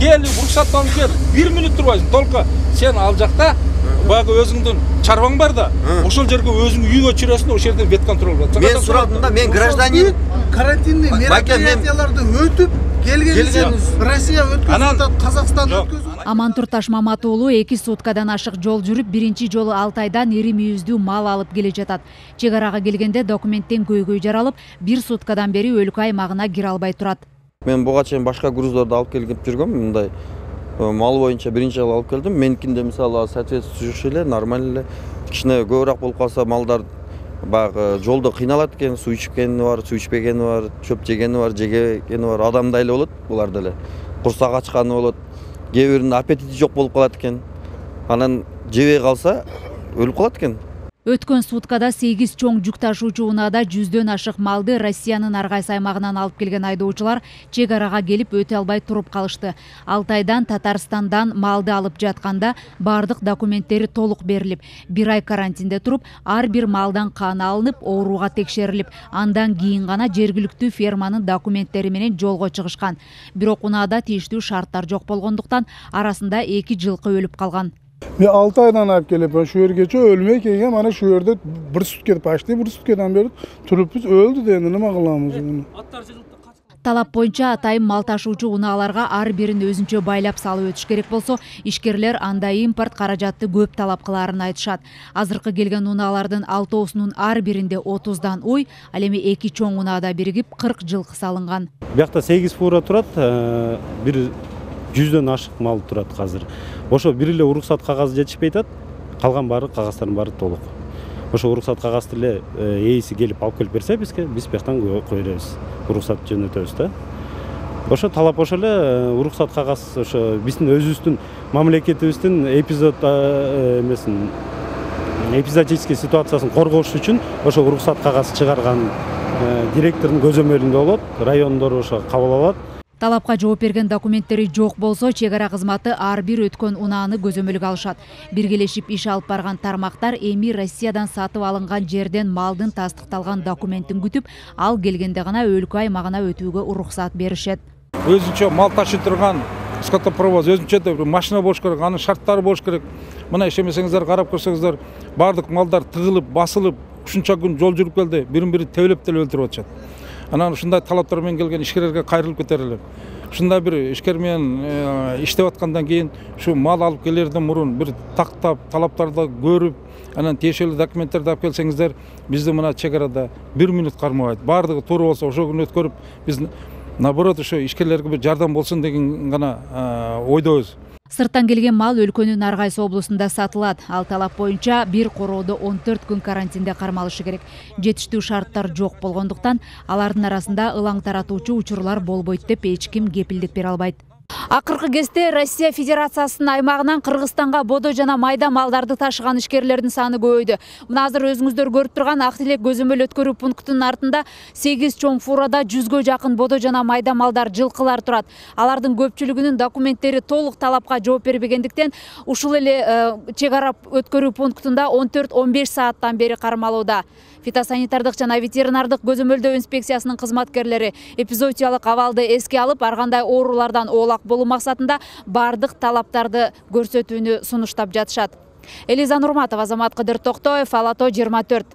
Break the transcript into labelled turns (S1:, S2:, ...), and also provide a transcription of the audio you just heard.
S1: кел уруксаттанып кел, 1 мүнөт турбайсың, только сен ал жакта баягы өзүңдүн чарбаң бар да, ошол жерге өзүң үйүңө чыгасың, ошол жерде ветконтроль болот.
S2: Мен сурадым да, мен гражданин
S3: карантиндик мероприятияларды өтүп келген Россия өткөзүп, Казакстан өткөзүп.
S4: Амантур Ташмамат уулу 2 суткадан ашык жол жүрүп, биринчи жолу Алтайдан ири мүйүздүү мал алып келе жатат. Чек арага келгенде документтен көйгөй жаралып, 1 суткадан бери өлкө аймагына кире албай турат.
S2: Мен буга чейин башка груздарды алып келип жүргөм, мындай мал боюнча биринчи жолу алып келдим. Меникинде мисалы соответствующий эле, нормально эле. Кичине көбүрөөк болуп калса малдар баягы жолдо кыйналат экен, суу ичкени бар, суу ичпегени бар, чөп жегени бар, жегени бар, адамдай эле болот буларда эле. Курсак ачканы болот. Кээ биринин аппетити жок болуп калат экен. Анан жебей калса өлүп калат экен.
S4: Өткөн суткада 8 чоң жүк ташуучу унаада 100дөн ашык малды Россиянын ар кайсы аймагынан алып келген айдоочулар чек арага келип өтө албай туруп калышты. Алтайдан, Татарстандан малды алып жатканда бардык документтери толук берилип, 1 ай карантинде туруп, ар бир малдан кан алынып, ооруга текшерилип, андан кийин гана жергиликтүү ферманын документтери менен жолго чыгышкан. Бирок унаада тийиштүү шарттар жок болгондуктан арасында 2 жылкы өлүп калган.
S3: Мен 6 айдан алып келип, şu yergече өлмөй келген, mana şu yerде 1 сутка, почти 1 суткадан бери турупбуз, өлдү да эми неме кыламыз муну?
S4: Талап боюнча атайын мал ташуучу унааларга ар бирин өзүнчө байлап салып өтүш керек болсо, ишкерлер андай импорт каражатты көп талап кылаарын айтышат. Азыркы келген унаалардын 6оосунун ар биринде 30дан уй, ал эми 2 чоң унаада биригип 40 жылкы салынган.
S5: Биякта 8 фура турат, бир 100дөн ашык мал турат азыр. Ошо бир эле уруксат кагазы жетишпей атат, калган баары кагаздардын баары толук. Ошо уруксат кагазды эле ээси келип алып келип берсе бизге, биз бияктан кое беребиз. Уруксат жөнөтөбүз да. Ошо талап ошо эле уруксат кагаз, ошо биздин өзүбүздүн мамлекетибиздин эпизодический ситуациясын коргош үчүн ошо уруксат кагаз чыгарган директордун көзөмөлүндө болот, райондор ошо кабыл алат.
S4: Талапка жооп берген документтери жок болсо, чек ара кызматы ар бир өткөн унааны көзөмөлгө алышат. Биргелешип иш алып барган тармактар эми Россиядан сатып алынган жерден малдын тастыкталган документин күтүп, ал келгенде гана өлкө аймагына өтүүгө уруксат беришет.
S1: Өзүнчө мал ташый турган скотопровоз, өзүнчө машина болуш керек, анын шарттары болуш керек. Мына ишемесеңиздер, карап көрсөңүздөр, бардык малдар тыгылып, басылып, ушунча күн жол жүрүп келди, бирин-бири тебелеп деле өлтүрүп атышат. Анан ушундай талаптар менен келген ишкерлерге кайрылып кетерлер. Ушундай бир ишкер менен иштеп аткандан кийин ушу мал алып келерден мурун бир тактап, талаптарды көрүп, анан тиешелүү документтерди алып келсеңиздер, бизде мына чек арада 1 мүнөт кармабайт. Бардыгы туура болсо ошол күнү өткөрүп, биз наоборот ошо ишкерлерге бир жардам болсун деген гана ойдобуз.
S4: Сырттан келген мал өлкөнүн ар кайсы облусунда сатылат. Ал талап боюнча бир короодо 14 күн карантинде кармалышы керек. Жетиштүү шарттар жок болгондуктан алардын арасында ылаң таратуучу учурлар болбойт деп эч ким кепилдик бере албайт. Акыркы кезде Россия Федерациясынын аймагынан Кыргызстанга бодо жана майда малдарды ташыган ишкерлердин саны көбөйдү. Мына азыр өзүңүздөр көрүп турган Ак Тилек көзөмөл өткөрүү пунктунун артында 8 чоң фурада 100гө жакын бодо жана майда малдар, жылкылар турат. Алардын көпчүлүгүнүн документтери толук талапка жооп бербегендиктен ушул эле чек ара өткөрүү пунктунда 14-15 сааттан бери кармалууда. Фитосанитардык жана ветеринардык көзөмөлдөө инспекциясынын кызматкерлери эпизоотиялык абалды эске алып, ар кандай оорулардан оолак болуу максатында бардык талаптарды көрсөтүүнү сунуштап жатышат. Элиза Нурматова, Азамат Кыдыр Токтоев, Ала Тоо 24.